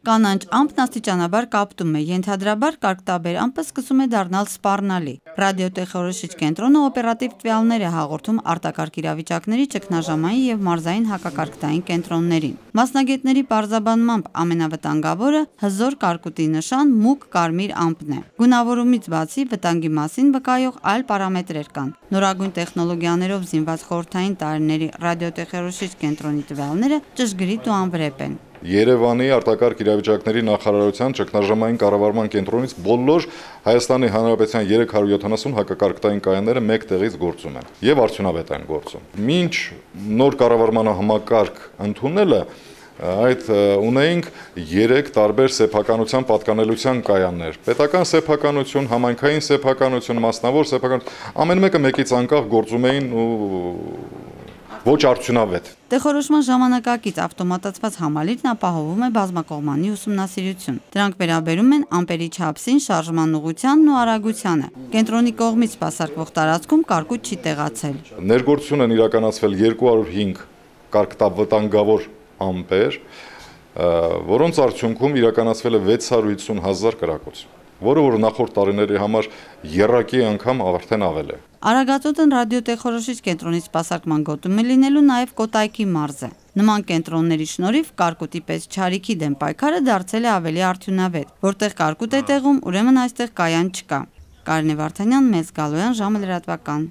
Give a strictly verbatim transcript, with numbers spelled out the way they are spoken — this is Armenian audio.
Կանանչ ամպն աստիճանաբար կապտում է, ենթադրաբար կարգտաբեր ամպը սկսում է դառնալ սպառնալի։ Ռադիոտեխնոլոգիչ կենտրոնը օպերատիվ տվյալներ է հաղորդում արտակարգ իրավիճակների ճգնաժամային եւ մարզային հակակարգտային կենտրոններին։ Մասնագետների պարզաբանմամբ ամենավտանգավորը հզոր կարկուտի նշան մուգ կարմիր ամպն է։ Գունավորումից բացի վտանգի մասին վկայող այլ պարամետրեր կան։ Նորագույն տեխնոլոգիաներով զինված խորհրդային տարիների ռադիոտեխնոլոգիչ կենտրոնի տվյալները ճշգրիտ ու անվրեպ են։ Երևանի արտակարգ իրավիճակների նախարարության ճգնաժամային կառավարման կենտրոնից բոլոր Հայաստանի Հանրապետության երեք հարյուր յոթանասուն հակակարգտային կայանները մեկ տեղից գործում են եւ արդյունավետ են գործում։ Մինչ նոր կառավարման համակարգ ընդունելը այդ ունեինք երեք տարբեր սեփականության պատկանելության կայաններ։ Պետական սեփականություն, համայնքային սեփականություն, մասնավոր սեփականություն, ամեն մեկը մեկից անկախ գործում էին ու ոչ արդյունավետ։ Տեղորոշման ժամանակակից ավտոմատացված համալիրն ապահովում է բազմակողմանի ուսումնասիրություն։ Դրանք վերաբերում են ամպերի չափսին, շարժման ուղղությանն ու արագությանը։ Կենտրոնի կողմից սպասարկվող տարածքում կարկուտ չի տեղացել։ Ներգործություն են իրականացվել երկու հարյուր հինգ կարգտավտանգավոր ամպեր, որոնց արդյունքում իրականացվել է վեց հարյուր հիսուն հազար կրակոց, որը որ նախորդ տարիների համար եռակի անգամ արդեն ավել է։ Արագածոտն ռադիոտեխնոլոգիչ կենտրոնի սպասարկման գոտում է լինելու նաև Կոտայքի մարզը։ Նման կենտրոնների շնորհիվ կարկուտի պես չարիքի դեմ պայքարը դարձել է ավելի արդյունավետ։ Որտեղ կարկուտ է տեղում, ուրեմն այստեղ կայան չկա։ Կարինե Վարդանյան, Մեծ Գալոյան, ժամը լրատվական։